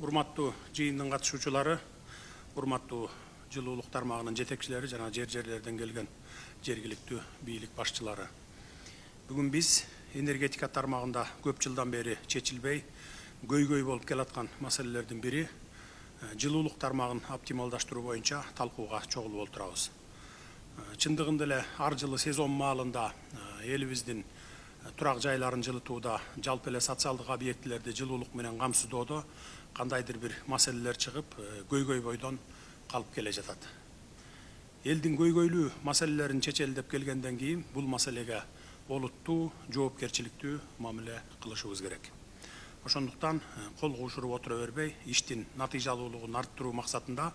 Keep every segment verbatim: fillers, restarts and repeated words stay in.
урматтуу жыйындын катышуучулары, урматтуу жылуулук тармагынын жетекчилери жана жер жерлерден келген жергиликтүү бийлик башчылары. Бүгүн биз энергетика тармагында көп жылдан бери чечилбей, көйгөй болуп келаткан маселелердин бири жылуулук тармагын оптималдаштыруу боюнча талкууга чогулуп отурабыз. Чындыгында эле ар жылы сезон маалында элибиздин турак жайларын жылытууда, жалпы эле социалдык объектилерди жылуулук менен камсыздоодо кандайдыр бир маселелер чыгып, көйгөй бойдон калып келе жатат. Элдин көйгөйлүү маселелерин чечели деп келгенден кийин бул маселеге олуттуу, жоопкерчиликтүү мамиле кылышыбыз керек. Ошондуктан кол куушуруп отура бербей, иштин натыйжалуулугун арттыруу максатында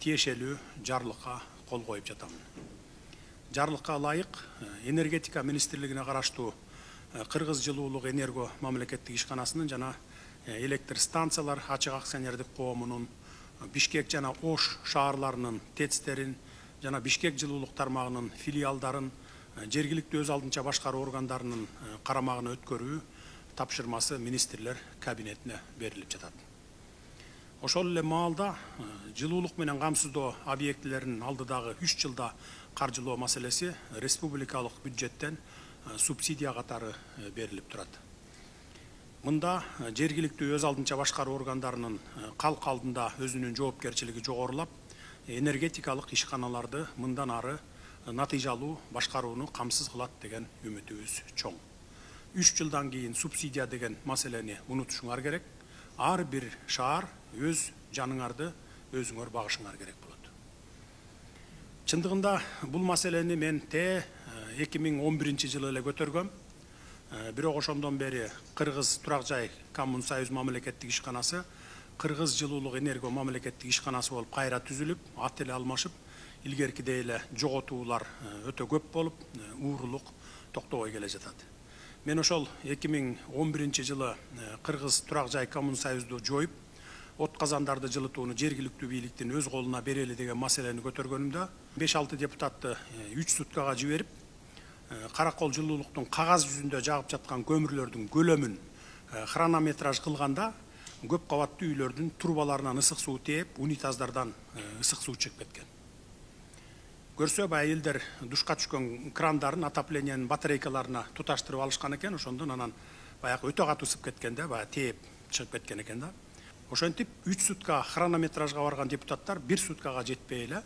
тиешелүү жарлыкка кол коюп жатамын. Жарлыкка ылайык энергетика министрлигине караштуу Кыргыз жылуулук энерго мамлекеттик ишканасынын жана электр станциялар ачык акционердик коомунун, Бишкек жана Ош шаарларынын тецтерин жана Бишкек жылуулук тармагынын филиалдарын жергиликтүү өз алдынча башкаруу органдарынын карамагына өткөрүү тапшырмасы министрлер кабинетине берилип жатат. Ошол эле маалда жылуулук менен камсыздоо объектилеринин алдыдагы үч жылда каржылоо маселеси республикалык бюджеттен субсидия катары берилип турат. Мында жергиликтүү өз алдынча башкаруу органдарынын калк алдында өзүнүн жоопкерчилиги жогорулап, энергетикалык ишканаларды мындан ары натыйжалуу башкарууну камсыз кылат деген үмүтүбүз чоң. үч жылдан кийин субсидия деген маселени унутушуңар керек. Ар бир шаар өз жаныңарды өзүңөр багышыңар керек болот. Чындыгында бул маселени мен те эки миң он биринчи жылы эле көтөргөм. Бирок ошондон бери Кыргыз турак жай коммун союз мамлекеттик ишканасы Кыргыз жылуулук энерго мамлекеттик ишканасы болуп кайра түзүлүп, ат эле алмашып, илгеркидей эле жоготуулар өтө көп болуп, уурулук токтобой келе жатат. Мен ошол эки миң он биринчи жылы Кыргыз турак жай коммун союзду жоюп, от казандарды жылытууну жергиликтүү бийликтин өз колуна берели деген маселени көтөргөнүмдө беш алты депутатты үч суткага жиберип, Каракол жылуулуктун кагаз жүзүндө жагып жаткан көмүрлөрдүн көлөмүн хронометраж кылганда көп кабаттуу үйлөрдүн трубаларынан ысык суу тээп, унитаздардан ысык суу чыгып кеткен. Көрсө баягы элдер душка түшкөн крандарын отоплениянын батарейкаларына туташтырып алышкан экен, ошондон анан баягы өтө катуу ысып кеткенде, баягы тээп чыгып кеткен экен да. Ошентип үч сутка хронометражга барган депутаттар бир суткага жетпей эле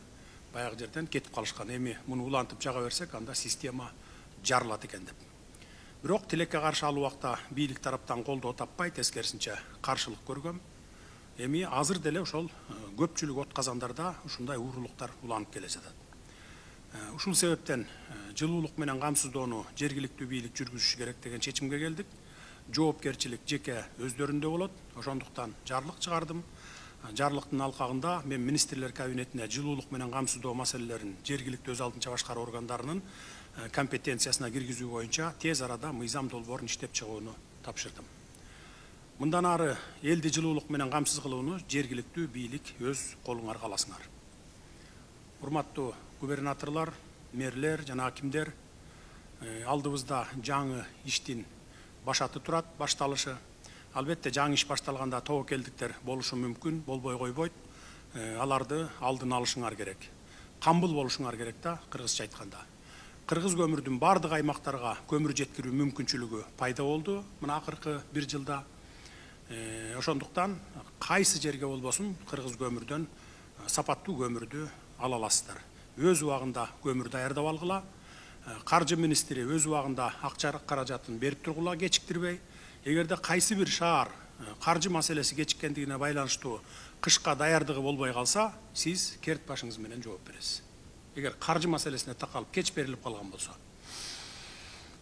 баягы жерден кетип калышкан. Эми муну улантып жага берсек, анда система жарылат экен деп. Бирок тилекке каршы ал убакта бийлик тараптан колдоо таппай, тескерисинче каршылык көргөм. Эми азыр деле ошол көпчүлүк от казандарда ушундай уурулуктар уланып келе жатат. Ушул себептен жылуулук менен камсыздоону жергиликтүү бийлик жүргүзүшү керек деген чечимге келдик. Жоопкерчилик жеке өздөрүндө болот. Ошондуктан жарлык чыгардым. Жарлыктын алкагында мен министрлер кабинетине жылуулук менен камсыздоо маселелерин жергиликтүү өз алдынча башкаруу органдарынын компетенциясына киргизүү боюнча тез арада мыйзам долбоорун иштеп чыгууну тапшырдым. Мындан ары элди жылуулук менен камсыз кылууну жергиликтүү бийлик өз колуңарга аласыңар. Урматтуу губернаторлор, мэрлер жана акимдер, алдыбызда жаңы иштин башаты турат, башталышы. Албетте жаңы иш башталганда тобокелдиктер болушу мүмкүн, болбой койбойт. Аларды алдын алышыңар керек. Камбыл болушуңар керек да, кыргызча айтканда. Кыргыз көмүрдүн бардык аймактарга көмүр жеткирүү мүмкүнчүлүгү пайда болду мына акыркы бир жылда. Ошондуктан кайсы жерге болбосун кыргыз көмүрдөн сапаттуу көмүрдү ала аласыздар. Өз убагында көмүр даярдап алгыла. Каржы министри өз убагында акча каражатын берип тургула кечиктирбей. Эгерде кайсы бир шаар каржы маселеси кечиккендигине байланыштуу кышка даярдыгы болбой калса, сиз керт башыңыз менен жооп бересиз. Эгер каржы маселесине такалып кеч берилип калган болсо.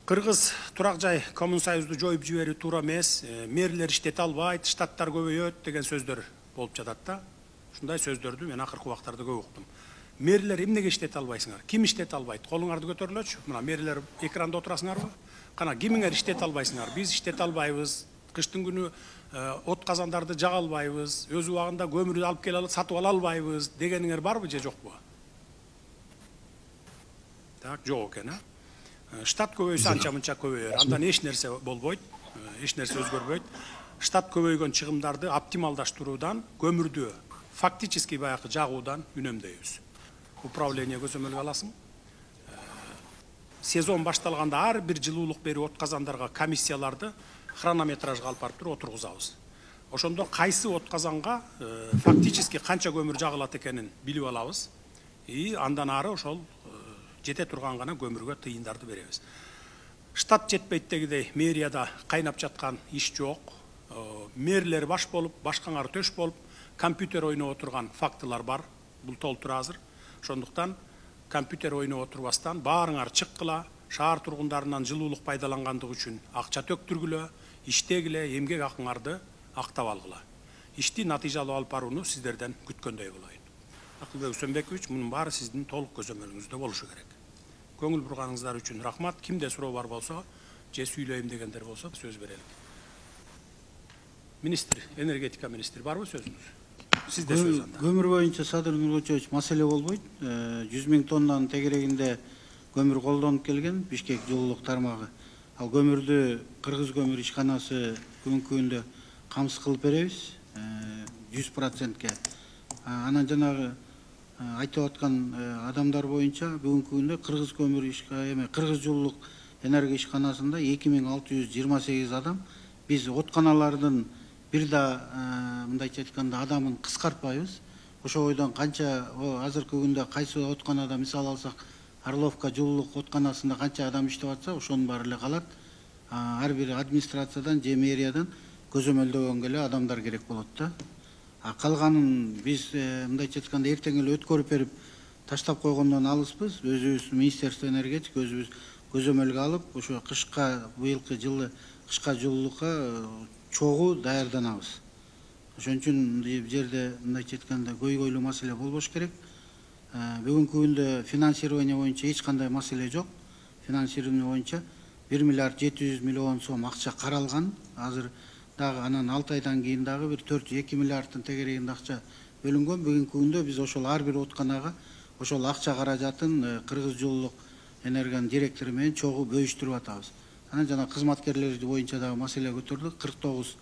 Кыргыз турак жай коммун союзду жоюп жиберүү туура эмес, мэрлер иштете албайт, штаттар көбөйөт деген сөздөр болуп жатат да. Ушундай сөздөрдү мен акыркы убактарда көп уктум. Мэрлер эмнеге иштете албайсыңар? Ким иштете албайт? Колуңарды көтөрүлөчү. Мына мэрлер экранда отурасыңарбы? Кана кимиңер иштете албайсыңар? Биз иштете албайбыз. Кыштын күнү от казандарды жага албайбыз. Өз убагында көмүрдү алып келе алып сатып ала албайбыз дегениңер барбы же жокпу? Так, жок экен, а? Штат көбөйсө анча мынча көбөйөр. Андан эч нерсе болбойт, эч нерсе өзгөрбөйт. штат көбөйгөн чыгымдарды оптималдаштыруудан, көмүрдү фактически баягы жагуудан үнөмдөйбүз. Управление көзөмөлгө аласың. Сезон башталганда ар бир жылуулук берүү отказандарга комиссияларды хронометражга алып барып туруп отургузабыз. Ошондо кайсы отказанга фактически канча көмүр жагылат экенин билип алабыз. И андан ары ошол жете турган гана көмүргө тыйындарды беребиз. Штат жетпейт дегидей мэрияда кайнап жаткан иш жок. Мэрлер баш болуп, башкаңар төш болуп, компьютер ойноп отурган фактылар бар. Бул толтур азыр. Ошондуктан компьютер ойноп отурбастан баарыңар чыккыла, шаар тургундарынан жылуулук пайдалангандыгы үчүн акча төктүргүлө, иштегиле, эмгек акыңарды актап алгыла. Ишти натыйжалуу алып барууну сиздерден күткөндөй болоюн. Акылбек Үсөнбекович, мунун баары сиздин толук көзөмөлүңүздө болушу керек. Көңүл бурганыңыздар үчүн рахмат. Кимде суроо бар болсо, же сүйлөйм дегендер болсо сөз берелик. Министр, энергетика министри барбы сөзүңүз? Сизде сөз анда. Көмүр боюнча Садыр Нургочевич маселе болбойт. жүз миң тоннанын тегерегинде көмүр колдонуп келген Бишкек жылуулук тармагы. Ал көмүрдү Кыргыз көмүр ишканасы күнгү күндө камсыз кылып беребиз жүз процентке. Анан жанагы айтып аткан адамдар боюнча бүгүнкү күндө Кыргыз көмүр эме Кыргыз жылуулук энергия ишканасында эки миң алты жүз жыйырма сегиз адам. Биз отканалардын бир да мындайча айтканда адамын кыскартпайбыз. Ошо бойдон канча азыркы күндө кайсы отканада мисал алсак Орловка жылуулук отканасында канча адам иштеп атса, ошонун баары эле калат. Ар бир администрациядан же мэриядан көзөмөлдөгөнгө эле адамдар керек болот да. А калганын биз мындайча айтканда эртең эле өткөрүп берип таштап койгондон алыспыз. Өзүбүз Министерство энергетика өзүбүз көзөмөлгө алып, ошо кышка быйылкы жылы кышка жылуулукка чогуу даярданабыз. Ошон үчүн бул жерде мындайча айтканда көйгөйлүү маселе болбош керек. Бүгүнкү күндө финансирование боюнча эч кандай маселе жок. Финансирование боюнча бир миллиард жети жүз миллион сом акча каралган. Азыр дагы анан алты айдан кийин дагы бир төрт эки миллиардтын тегерегинде акча бөлүнгөн. Бүгүнкү күндө биз ошол ар бир отканага ошол акча каражатын Кыргыз жылуулук энергиянын директору менен чогуу бөлүштүрүп атабыз. Анан жана кызматкерлер боюнча дагы маселе көтөрдүк. кырк тогуз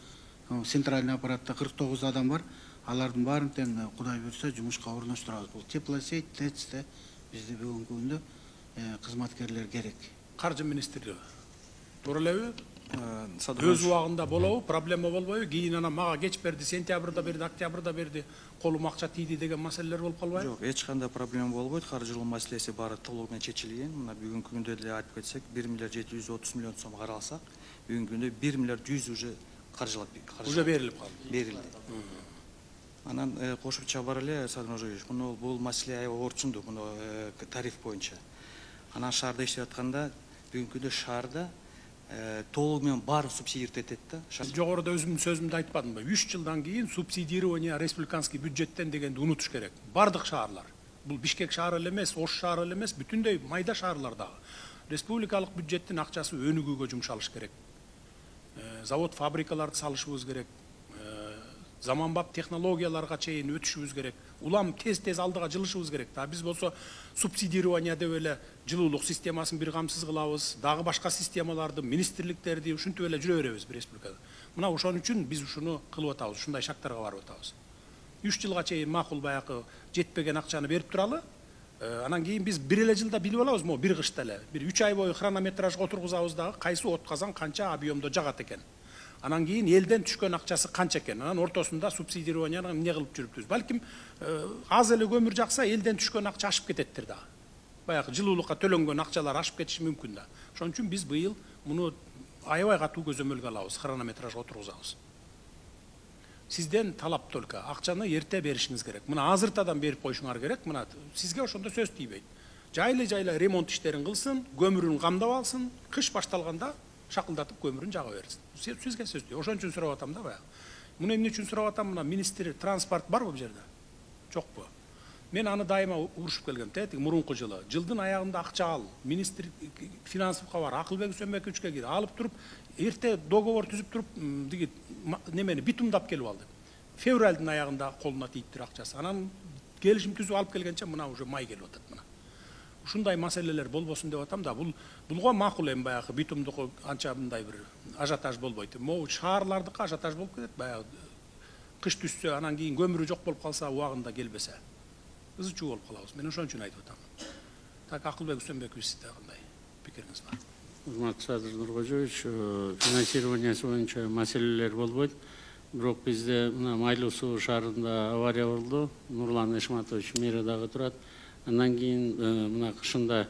центральный аппаратта кырк тогуз адам бар. Алардын баарын тең Кудай буйрса жумушка орноштурабыз. Бул теплосеть, ТЭЦте бизде бүгүнкү күндө кызматкерлер керек. Каржы министри туура элеби? Өз убагында болобу, проблема болбойбу? Кийин анан мага кеч берди, сентябрда берди, октябрда берди, колум акча тийди деген маселелер болуп калбайбы? Жок, эч кандай проблема болбойт. Каржылоо маселеси баары толугу менен чечилген. Мына бүгүнкү күндө эле айтып кетсек, бир миллиард жети жүз отуз миллион сом каралсак, бүгүнкү күндө бир миллиард жүз уже каржылап уже берилип калды. Берилди. Анан кошумча бар эле Садыр Нургочевич, муну бул маселе аябай орчундук, муну тариф боюнча. Анан шаарда иштеп атканда бүгүнкү күндө шаарда толугу менен баары субсидировать этет да. Жогоруда өзүмдүн сөзүмдү айтпадымбы? үч жылдан кийин субсидирование республиканский бюджеттен дегенди унутуш керек. Бардык шаарлар. Бул Бишкек шаары эле эмес, Ош шаары эле эмес, бүтүндөй майда шаарлар дагы. Республикалык бюджеттин акчасы өнүгүүгө жумшалыш керек. Завод, фабрикаларды салышыбыз керек. Заманбап технологияларга чейин өтүшүбүз керек. Улам тез-тез алдыга жылышыбыз керек. Да биз болсо субсидирование деп эле жылуулук системасын бир камсыз кылабыз, дагы башка системаларды, министрликтерди ушинтип эле жүрө беребиз бир республикада. Мына ошон үчүн биз ушуну кылып атабыз, ушундай шактарга барып атабыз. үч жылга чейин макул баягы жетпеген акчаны берип туралы. Анан кийин биз бир эле жылда билип алабыз, мо бир кышта эле. Бир үч ай бою хронометражга отургузабыз дагы кайсы отказан канча объемдо жагат экен. Анан кийин элден түшкөн акчасы канча экен. Анан ортосунда субсидированияны эмне кылып жүрүппүз? Балким аз эле көмүр жакса элден түшкөн акча ашып кететтир да. Баягы жылуулукка төлөнгөн акчалар ашып кетиши мүмкүн да. Ошон үчүн биз быйыл муну аябай катуу көзөмөлгө алабыз, хронометражга отургузабыз. Сизден талап только акчаны эрте беришиңиз керек. Мына азыртадан берип коюшуңар керек. Мына сизге ошондо сөз тийбейт. Жайлы-жайлы ремонт иштерин кылсын, көмүрүн камдап алсын, кыш башталганда шакылдатып көмүрүн жага берсин. Сизге сөз тий. Ошон үчүн сурап атам да баягы. Муну эмне үчүн сурап атам? Мына министр транспорт барбы бул жерде? Жокпу? Мен аны дайыма урушуп келгем. Тетиги мурунку жылы. Жылдын аягында акча ал. Министр финансовка бар. Акылбек Үсөнбековичке кирип алып туруп, эрте договор түзүп туруп, диги немени битумдап келип алды. Февралдын аягында колуна тийиптир акчасы. Анан келишим түзүп алып келгенче мына уже май келип атат мына. ушундай маселелер болбосун деп атам да. Бул булго макул эми баягы битумдуку анча мындай бир ажиотаж болбойт. Могу шаарлардыкы ажиотаж болуп кетет. Баягы кыш түшсө, анан кийин көмүрү жок болуп калса, убагында келбесе, ызы чуу болуп калабыз. Мен ошон үчүн айтып атам. Так, Акылбек Үсөнбекович, сизде кандай пикириңиз бар? Урматтуу Садыр Нуркожоевич, финансированиясы боюнча маселелер болбойт. Бирок бизде мына Майлуу суу шаарында авария болду. Нурлан Эшматович мэрияда турат. Андан кийин мына кышында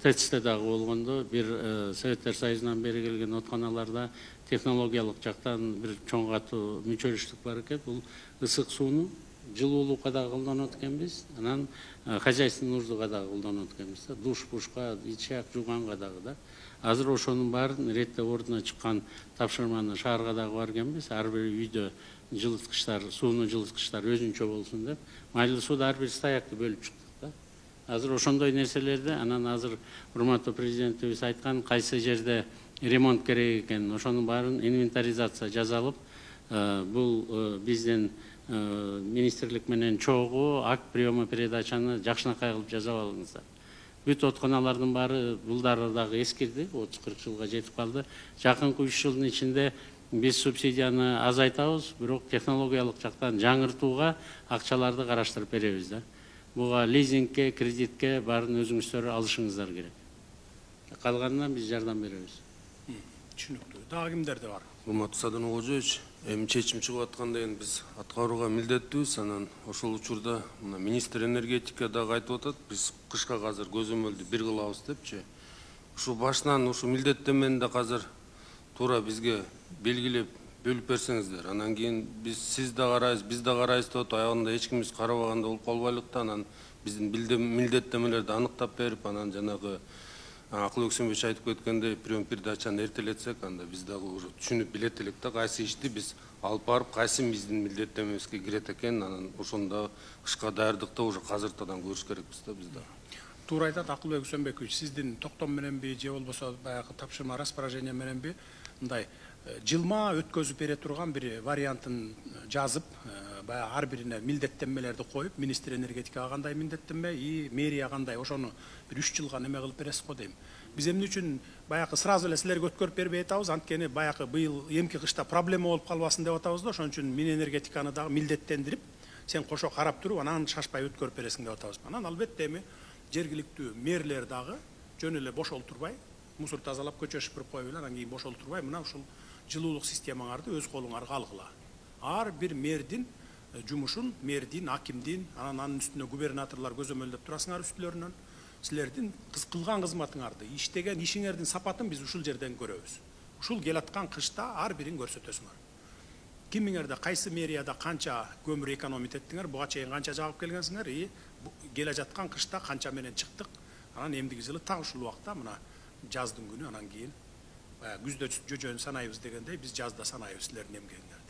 ТЭЦте дагы болгондо бир Советтер Союзунан бери келген отканаларда технологиялык жактан бир чоң катуу мүчөлүштүк бар экен. Бул ысык сууну жылуулукка дагы колдонот экенбиз, анан хозяйственный нуждага дагы колдонот экенбиз. Душ-бушка, ичак жууганга дагы да. Азыр ошонун баарын реттеп ордуна чыккан тапшырманы шаарга дагы бар экенбиз. Ар бир үйдө жылыткычтар, сууну жылыткычтар өзүнчө болсун деп. Майлуу сууду ар бир стоякты бөлүп чыктык да. Азыр ошондой нерселерди, анан азыр урматтуу президентибиз айткан кайсы жерде ремонт керек экен, ошонун баарын инвентаризация жасалып, бул бизден министрлик менен чогуу акт приема передачаны жакшынакай кылып жасап алыңыздар. Бүт отканалардын баары булдары дагы эскирди, отуз кырк жылга жетип калды. Жакынкы үч жылдын ичинде биз субсидияны азайтабыз, бирок технологиялык жактан жаңыртууга акчаларды караштырып беребиз да. Буга лизингке, кредитке баарын өзүңүздөр алышыңыздар керек. Калганына биз жардам беребиз. Түшүнүктүү. Дагы кимдерде бар? Урматтуу Садыр Нуркожоевич, эми чечим чыгып атканда эми биз аткарууга милдеттүүбүз. Анан ошол учурда мына министр энергетика дагы айтып атат, биз кышка азыр көзөмөлдү бир кылабыз депчи. Ушу башынан ушу милдеттенмени да азыр туура бизге белгилеп бөлүп берсеңиздер. Анан кийин биз сиз да карайбыз, биз да карайбыз деп аягында эч кимибиз карабаганда болуп калбайлык да. Анан биздин милдеттенмелерди аныктап берип, анан жанагы Акылбек Үсөнбекович айтып кеткендей прием передачаны эртелетсек, анда биз дагы уже түшүнүп билет элек да, кайсы ишти биз алып барып, кайсы биздин милдеттенмебизге кирет экен, анан ошондо кышка даярдыкты уже азыртадан көрүш керекпиз да биз да. Туура айтат Акылбек Үсөнбекович, сиздин токтом мененби же болбосо баягы тапшырма распоряжение мененби мындай жылма өткөзүп бере турган бир вариантын жазып, баягы ар бирине милдеттенмелерди коюп, министр энергетикага кандай милдеттенме, и мэрия кандай, ошону бир үч жылга неме кылып бересиз го дейм. Биз эмне үчүн баягы сразу эле силерге өткөрүп бербей атабыз, анткени баягы быйыл эмки кышта проблема болуп калбасын деп атабыз да, ошон үчүн Минэнергетиканы дагы милдеттендирип, сен кошо карап туруп, анан шашпай өткөрүп бересиң деп атабыз. Анан албетте эми жергиликтүү мэрлер дагы жөн эле бошолтурбай, мусор тазалап көчө шыпырып коюп эле, анан кийин бошолтурбай, мына ушул жылуулук системаңарды өз колуңарга алгыла. Ар бир мэрдин жумушун, мэрдин, акимдин, анан анын үстүнө губернаторлор көзөмөлдөп турасыңар үстүлөрүнөн. Силердин кылган кызматыңарды, иштеген ишиңердин сапатын биз ушул жерден көрөбүз. Ушул келаткан кышта ар бирин көрсөтөсүңөр. Кимиңерде кайсы мэрияда канча көмүр экономить эттиңер, буга чейин канча жагып келгенсиңер, и келе жаткан кышта канча менен чыктык. Анан эмдиги жылы так ушул убакта мына жаздын күнү, анан кийин күздө жөжөнү санайбыз дегендей биз жазда санайбыз силердин эмгегиңерди.